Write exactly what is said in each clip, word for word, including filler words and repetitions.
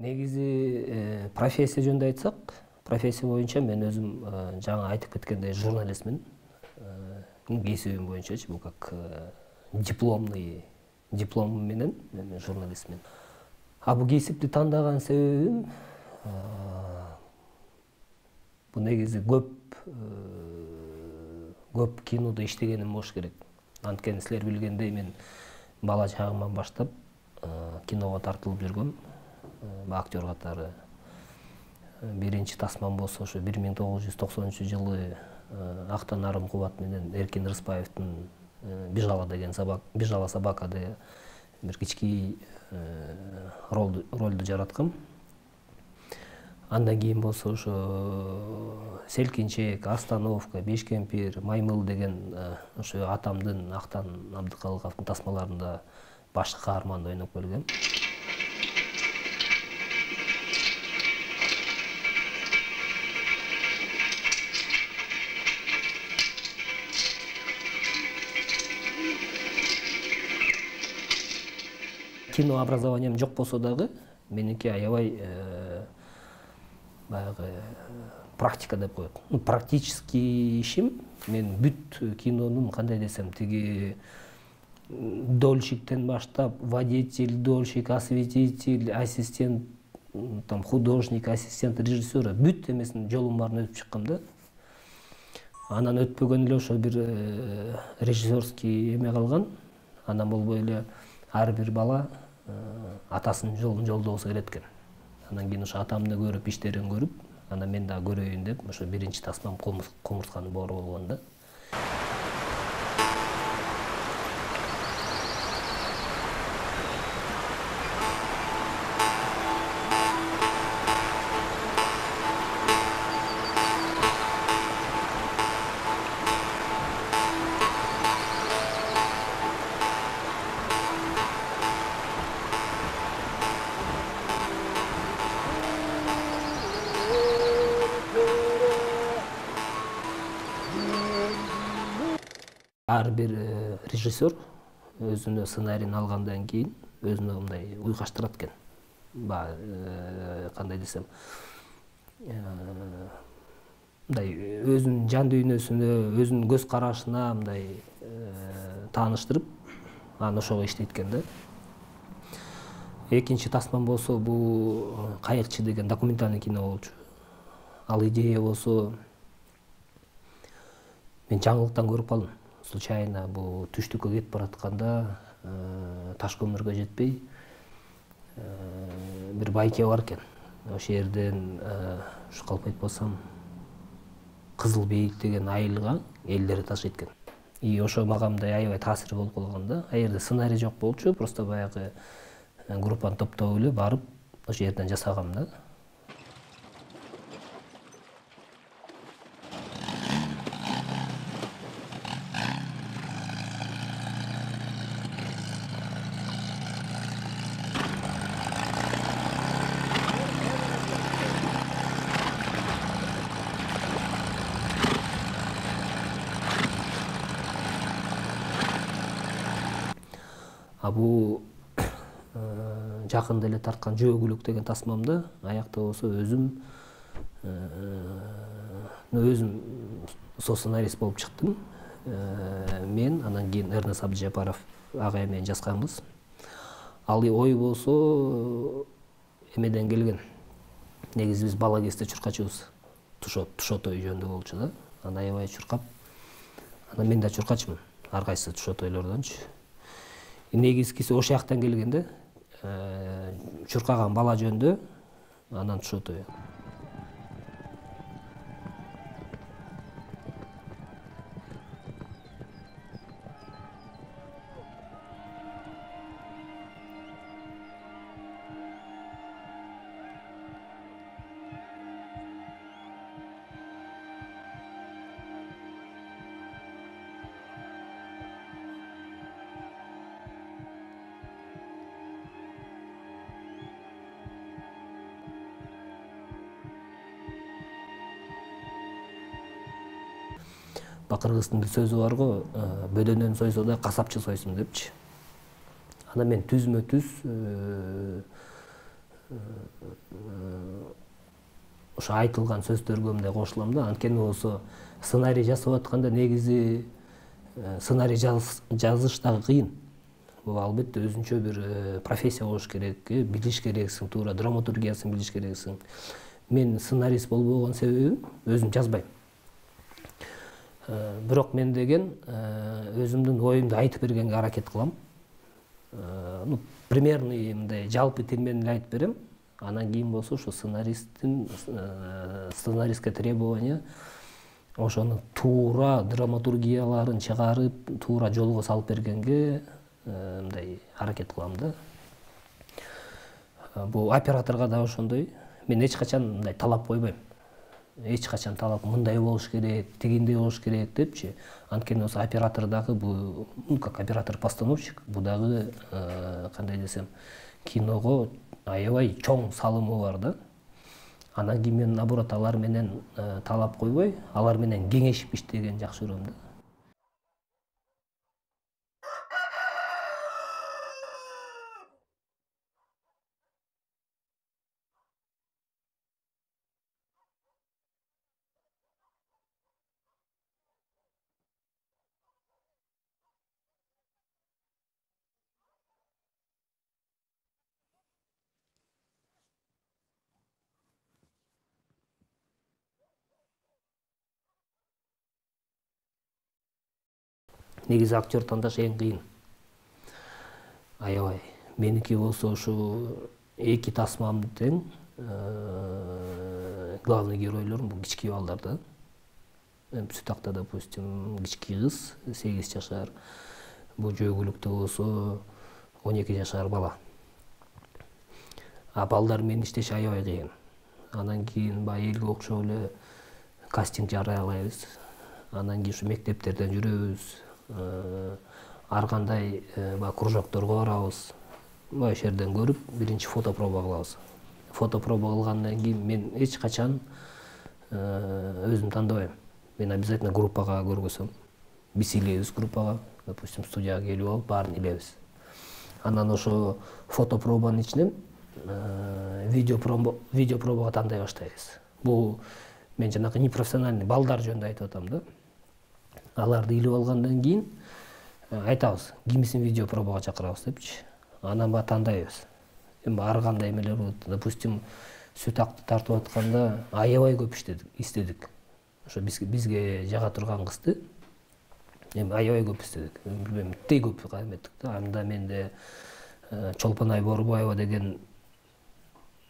Негизи профессия жөнүндө айтсак, профессия боюнча мен өзүм жаңы айтып кеткендей журналистмин. Кесибим боюнчачы бул как дипломный дипломум менен мен журналистмин. А бул кесипти тандаган себебим бул негизи көп көп кинодо иштегеним болуш керек. Анткени силер билгендей мен бала чагымдан баштап киного тартылып жүргөм. Актер катары. Биринчи тасмам болсо ошо бир миң тогуз жүз токсонунчу жылы Актан Нарым Кубат менен Эркин Рыспаевдин Бижала деген собака, Бижала собакада бир кички ролду жараткам. Андан кийин болсо ошо Селкинчек, Остановка, Бешкемпир, Маймыл деген ошо атамдын Актан Абдыкалыковдун тасмаларында башкы каарманда ойноп келгем. Кино образованием жок болсо дагы, меники аябай баягы практика деп коет. Практический ишим мен бүт кинонун кандай десем, тиги дольщиктен баштап водитель, дольщик, осветитель, ассистент, там художник, ассистент режиссера бүт эмесин жолун баарын өтүп чыккам да. Анан өтпөгөн эле ошо бир режиссерский эме калган. Анан болбой эле ар бир бала атасынын жолун жолдогусу келет экен. Анан кийин ошо атамды көрүп, иштерин көрүп, анан мен дагы көрөйүн деп, ошо биринчи тасмам Кумурсканын боору болгон да. Ар бир режиссер өзүнө сценарийин алгандан кийин өзүнө мындай уйгаштырат экен. Баягы кандай десем, мындай өзүнүн жан дүйнөсүнө, өзүнүн көз карашына мындай тааныштырып, анан ошого иштейт экен да. Экинчи тасмам болсо бул Кайыкчы деген документальный кино болчу. Ал идея болсо мен жаңылыктан көрүп калдым. Случайно бул түштүккө кетип баратканда таш көмүргө жетпей бир байке бар экен. Ошол жерден ушу калп айтпасам Кызыл бейит деген айылга элдери ташыйт экен. И ошо мага мындай аябай таасир болуп калган да. А жерде сценарий жок болчу, просто баягы группаны топтоп эле барып ошол жерден жасагам да. А бул жакында эле тарткан Жөө деген тасмамда аякта болсо өзүм өзүм со сценарист болуп чыктым. Мен анан кийин Эрнес Абдыжапаров агай менен жазганбыз. Ал ой болсо эмеден келген. Негизи биз бала кезде чуркачыбыз. Тушотой жөнүндө болчу да. Анан аябай чуркап. Анан мен да чуркачмын. Ар кайсы тушотойлордончу. Негизгиси ошол жактан келген да. Чуркаган бала жөнүндө, анан тушотой. Кыргыздын бир сөзү бар го, бөдөнөн сойсо да касапчы сойсун депчи. Ана мен түзмө түз ошо айтылган сөздөргө мындай кошулам да. Анткени болсо сценарий жасап атканда негизи сценарий жазыш дагы кыйын. Бул албетте өзүнчө бир профессия болуш керек, билиш керексиң, туура драматургиясын билиш керексиң. Мен сценарист болбогон себебим өзүм жазбайм. Бирок мен деген өзүмдүн оюмду айтып бергенге аракет кылам. Ну, примерный мындай жалпы тил менен эле айтып берем. Анан кийин болсо ошо сценаристтин сценаристке требования ошону туура драматургияларын чыгарып, туура жолго салып бергенге мындай аракет кылам да. Бул операторго да ошондой. Мен эч качан мындай талап койбойм. Эч качан талап мындай болуш керек, тигиндей болуш керек депчи. Анткени болсо оператор дагы бул, ну как оператор-постановщик, бул дагы кандай десем, киного аябай чоң салымы бар да. Анан кийин мен наоборот алар менен талап койбой, алар менен кеңешип иштеген жакшы көрөм да. Негизи актер тандаш эң кыйын. Аябай. Меники болсо ушу эки тасмам тең. Главный геройлор бул кички балдар да. Сүтакта, допустим, кички кыз, сегиз жашар. Бул жөгүлүктө болсо он эки жашар бала. А балдар менен иштеш аябай кыйын. Анан кийин баягы элге окшоп эле кастинг жарыялайбыз. Анан кийин ушу мектептерден жүрөбүз. Ар кандай кружокторго барабыз. Ошол жерден көрүп, биринчи фотопроба кылабыз. Фотопроба кылгандан кийин мен эч качан өзүм тандабайм. Мен обязательно группага көргөзөм. Биз илебиз группага, допустим, студияга келип алып, баарын илебиз. Анан ошо фотопробанын ичинен видеопробага тандай баштайбыз. Бул мен жанагы непрофессиональный балдар жөнүндө айтып атам да. Аларды илип алгандан кийин айтабыз, кимисин видеопробага чакырабыз депчи. Анан ба тандайбыз. Эми ар кандай эмелер болот. Допустим, сүтакты тартып атканда аябай көп иштедик, истедик. Ошо бизге жага турган кызды эми аябай көп иштедик. Билбейм, тей көп кайреттик да. Анда менде Чолпонай Боорубаева деген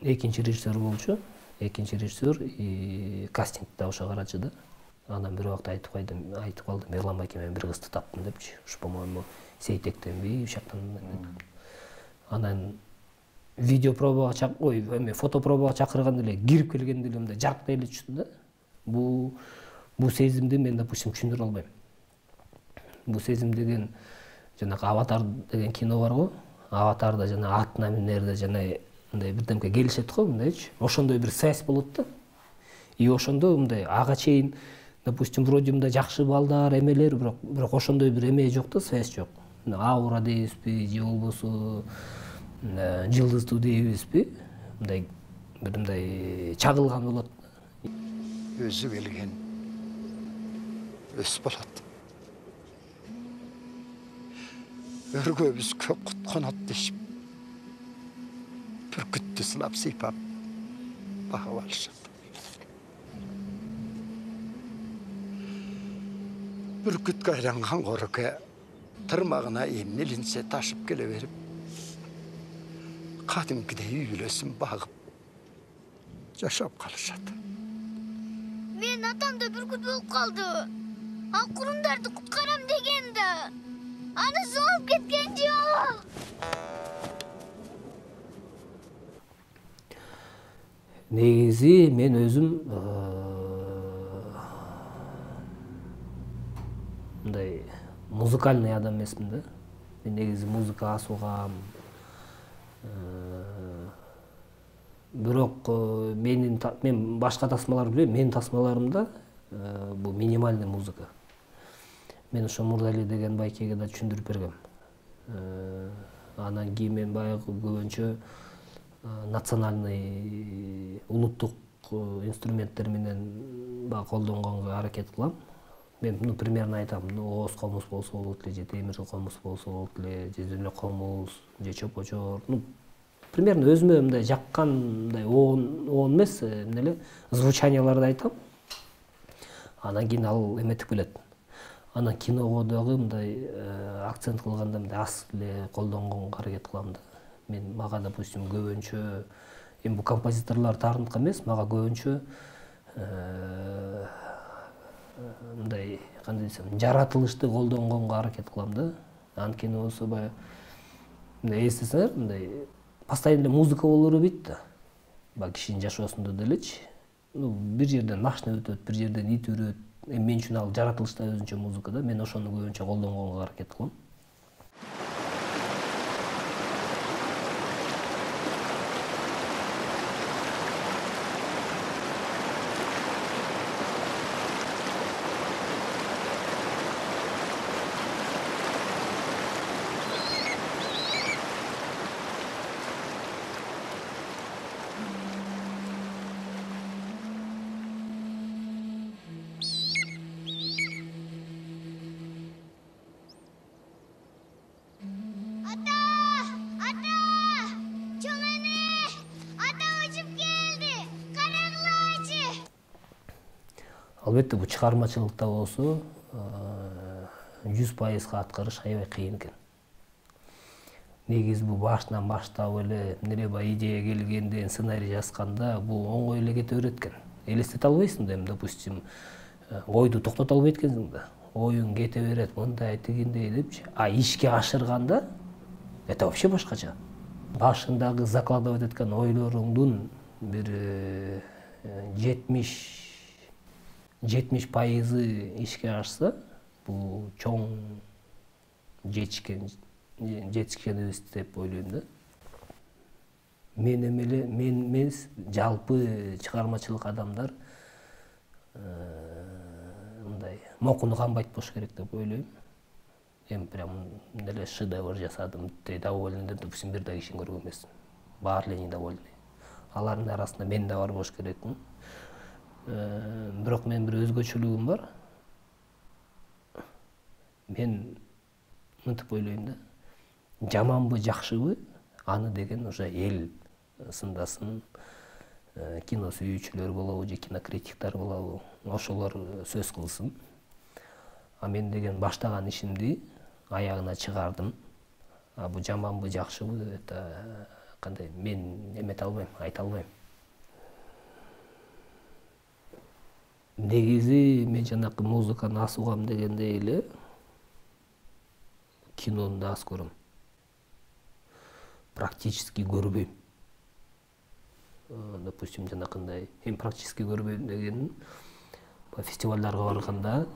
экинчи режиссер болчу. Экинчи режиссер и кастингде ошо карачы да. Анан бир убакта айтып кайдым, айтып калдым, Эрлан байке, мен бир кызды таптым депчи. Ушу, по-моему, Сейтектенби, ушактан. Анан видеопробага чак, ой, эме фотопробага чакырганда эле кирип келгенде эле мындай жарктай эле түштү да. Бул бул сезимди мен, допустим, түшүндүрө албайм. Бул сезим деген жанагы Аватар деген кино бар го. Аватарда жана атына минерде жана мындай бирдемке келишет го, мындайчы. Ошондой бир связь болот да. И ошондо мындай ага чейин, допустим, вроде мындай жакшы балдар, эмелер, бирок бирок ошондой бир эме жок да, связь жок. Аура дейбизби, же болбосо жылдыздуу дейбизби, мындай бир мындай чагылган болот. Өзү келген өс болот. Өргөбүз көп кутканат дешип, бүркүттү сынап сыйпап багып алышат. Бүркүткө айланган короке тырмагына эмне илинсе ташып келе берип, кадимкидей үй бүлөсүн багып жашап калышат. Мен атам да бүркүт болуп калды. Ал курундарды куткарам деген да. Аны соолуп кеткен жок. Негизи мен өзүм мындай музыкальный адам эмесмин да. Мен негизи музыкага асуугам. Бирок менин мен башка тасмаларды билбейм, менин тасмаларымда бул минимальный музыка. мен ошо Мурдали деген байкеге да түшүндүрүп бергем. Анан кийин мен баягы көбүнчө национальный улуттук инструменттер менен баягы колдонгонго аракет кылам. Мен ну примерно айтам, ну ооз комуз болсо болот эле, же темир комуз болсо болот эле, же зөлө комуз, же чопочор. Ну примерно өзүмө мындай жаккандай оон оон эмес, эмне эле звучанияларды айтам. Анан кийин ал эметип келет. Анан киного дагы мындай акцент кылганда мындай аз эле колдонгонго аракет кылам да. Мен мага допустим көбүнчө эми бул композиторлор таарыныка эмес, мага көбүнчө мындай кандай десем, жаратылышты колдонгонго аракет кылам да. Анткени болсо баягы мындай эстесеңер, мындай постоянно музыка боло бербейт да. Баягы кишинин жашоосунда делечи. Ну бир жерден машина өтөт, бир жерден ит үрөт. Эми мен үчүн ал жаратылышта өзүнчө музыка да. Мен ошону көбүнчө колдонгонго аракет кылам. Албетте бул чыгармачылыкта болсо жүз пайызга аткарыш аябай кыйын экен. Негизи бул башынан баштап эле эмне баягы идея келгенде, сценарий жазганда бул оңой эле кете берет экен. Элестете албайсың да, эми допустим, ойду токтото албайт экенсиң да. Оюң кете берет, мындай тигиндей депчи. А ишке ашырганда это вообще башкача. Башындагы закладывать эткөн ойлоруңдун бир жетимиш жетимиш пайызы ишке ашса, бул чоң жетишкен жетишкенибиз деп ойлойм да. Мен эмеле мен эмес, жалпы чыгармачылык адамдар мындай мокуну камбайт болуш керек деп ойлойм. Эми прям эле шедевр жасадым, доволен деп, допустим, бир да кишини көргөн эмесмин. Баары эле недовольны. Алардын арасында мен да бар болуш керекмин. Бирок менин бир өзгөчөлүгүм бар. Мен мынтип ойлойм да. Жаманбы, жакшыбы, аны деген уже эл сындасын, кино сүйүүчүлөр болобу же кинокритиктер болобу, ошолор сөз кылсын. А мен деген баштаган ишимди аягына чыгардым. А бул жаманбы, жакшыбы, это кандай мен эмете албайм, айта албайм. Негизи мен жанакы музыканы аз угам дегендей эле кинону да аз көрөм. Практически көрбөйм. Допустим, жанакындай эми практически көрбөйм дегеним фестивалдарга барганда,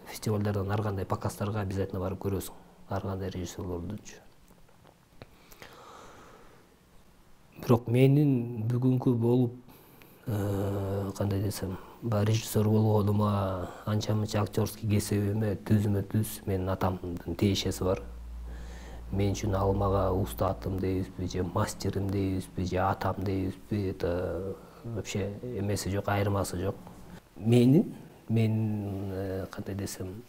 фестивалдардан ар кандай показдарга обязательно барып көрөсүң. Ар кандай режиссерлордучу. Бирок менин бүгүнкү болуп кандай десем, баягы режиссер болгонума, анча мынча актерский кесибиме түзмө түз менин атамдын тиешеси бар. Мен үчүн ал мага устатым дейбизби, же мастерим дейбизби, же атам дейбизби, это вообще эмеси жок, айырмасы жок. Менин мен кандай десем,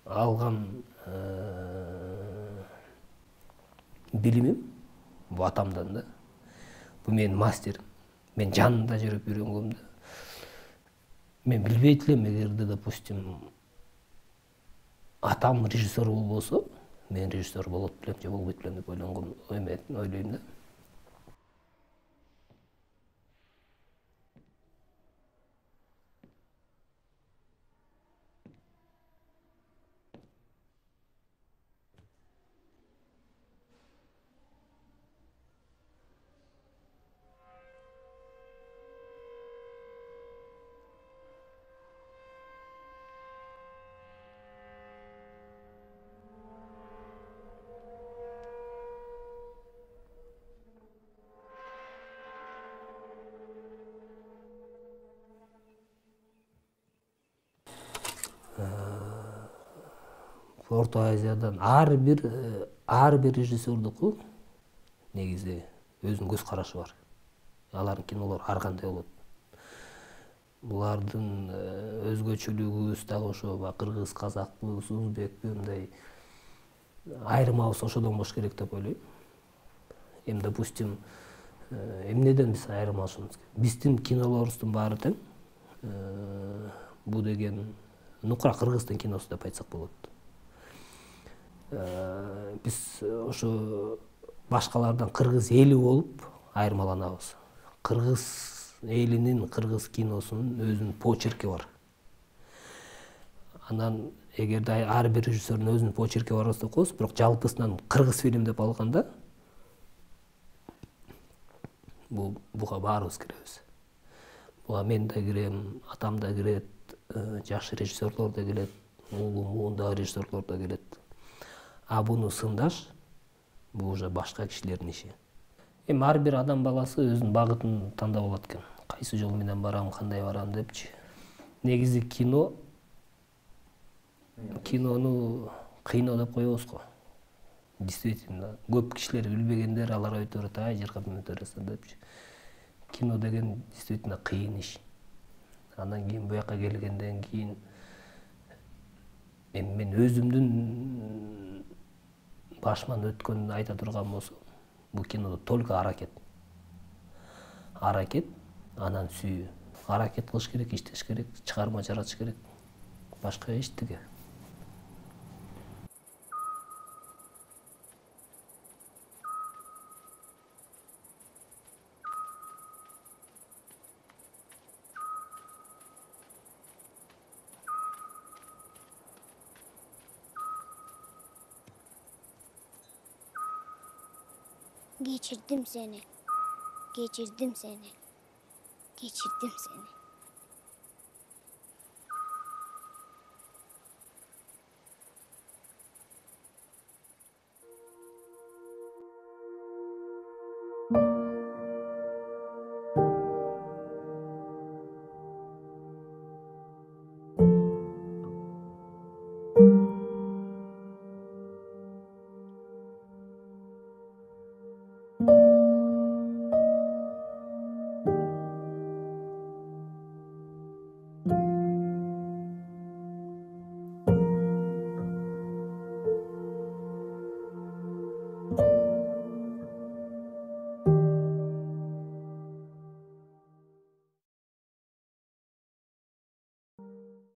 алган билимим бул атамдан да. Бул менин мастерим. Мен жанында жүрүп үйрөнгөм да. Мен билбейт элем, эгерде, допустим, атам режиссер болбосо, мен режиссер болот белем же болбойт белем деп ойлонгом, ойлойм да. Орто Азиядан ар бир ар бир режиссердуку негизи өзүнүн көз карашы бар. Алардын кинолору ар кандай болот. Булардын өзгөчөлүгүбүз дагы ошо кыргыз, казакпы, узбекпи мындай айырмабыз ошодон болуш керек деп ойлойм. Эми допустим, эмнеден биз айырмалашабыз? Биздин кинолорубуздун баары тең. Бул деген нукура кыргыздын киносу деп айтсак болот. Биз ошо башкалардан кыргыз эли болуп айырмаланабыз. Кыргыз элинин, кыргыз киносунун өзүнүн почерки бар. Анан эгерде ар бир режиссердин өзүнүн почерки бар болсо коебуз, бирок жалпысынан кыргыз фильм деп алганда бул буга баарыбыз киребиз. Буга мен да кирем, атам да кирет, жакшы режиссерлор да келет, уулум, муундагы режиссерлор да келет. А буну сындаш бул уже башка кишилердин иши. Эми ар бир адам баласы өзүнүн багытын тандап алат экен. Кайсы жол менен барам, кандай барам депчи. Негизи кино кинону кыйноо деп коебуз го. Действительно, көп кишилер билбегендер, алар айтып берет, ай жыргап өтөрөсүң депчи. Кино деген действительно кыйын иш. Андан кийин буяка келгенден кийин эми мен өзүмдүн башыман өткөнүн айта турган болсом, бул кинодо только аракет. Аракет, анан сүйүү. Аракет кылыш керек, иштеш керек, чыгарма жаратыш керек. Башка эчтеке. Geçirdim seni. Geçirdim seni. Geçirdim seni.